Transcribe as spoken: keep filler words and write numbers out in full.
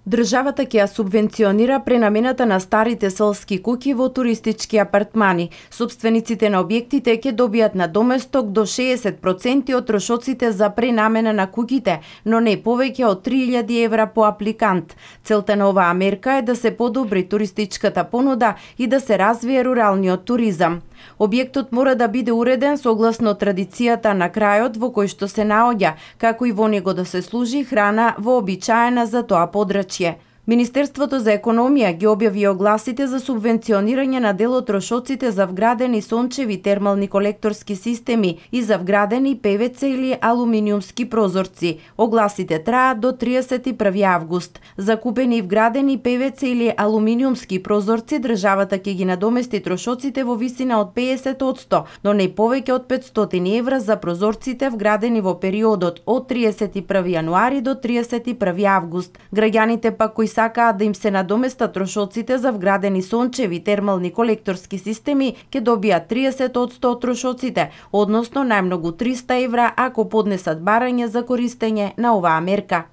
Државата ќе ја субвенционира пренамената на старите селски куќи во туристички апартмани. Собствениците на објектите ќе добијат надоместок до шеесет проценти од трошоците за пренамена на куќите, но не повеќе од три илјади евра по апликант. Целта на оваа мерка е да се подобри туристичката понуда и да се развие руралниот туризам. Објектот мора да биде уреден согласно традицијата на крајот во кој што се наоѓа, како и во него да се служи храна вообичаена за тоа подрачје. Министерството за економија ги објави огласите за субвенционирање на дел од трошоците за вградени сончеви термални колекторски системи и за вградени пе ве це или алуминиумски прозорци. Огласите траат до триесет и први август. За купени и вградени пе ве це или алуминиумски прозорци државата ќе ги надомести трошоците во висина од пеесет одсто, но не повеќе од петстотини евра за прозорците вградени во периодот од триесет и први јануари до триесет и први август. Граѓаните пак кои сакаат да им се надоместат трошоците за вградени сончеви термални колекторски системи ќе добијат триесет одсто од трошоците, односно најмногу триста евра ако поднесат барање за користење на оваа мерка.